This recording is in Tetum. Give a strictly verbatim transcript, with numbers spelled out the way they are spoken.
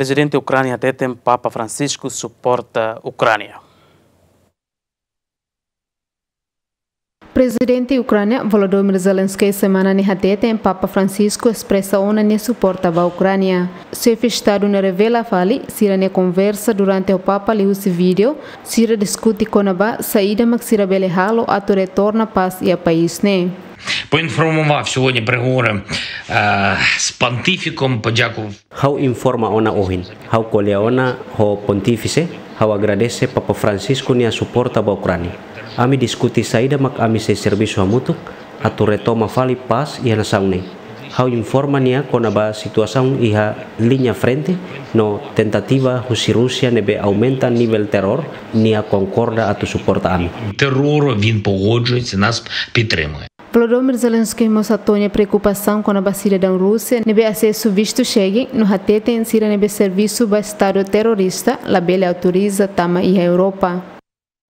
Prezidente Ukránia hateten Papa Francisco suporta Ukránia. Prezidente Ukránia Volodymyr Zelensky semana ne'e hateten Papa Francisco espresa ona nia suporta ba Ukránia. Xefe Estadu ne'e revela fali sira-nia konversa durante ho Papa liuhusi vídeo, sira diskute kona-ba saida mak sira bele halo atu retorna pás iha país ne'e. Поінформував сьогодні переговори е, з понтіфіком, подякував. Ha'u informa ona ohin. Ha'u ko'alia ona ho Pontífise, ha'u agradese Papa Francisco nia suporta ba Ukránia. Ami diskute saida mak ami sei servisu hamutuk atu retoma fali pás iha nasaun ne'e. Ha'u informa nia kona-ba situasaun iha liña frente no tentativa husi Rúsia ne'ebé aumenta nivel teror, nia konkorda atu suporta ami. Терору він погоджується, нас підтримує. Volodymyr Zelensky mós hato'o nia preokupasaun kona-ba sidadaun Rúsia ne'ebé asesu vistu Schengen no hateten sira ne'ebé servisu ba Estadu terrorista labele autoriza tama iha Europa.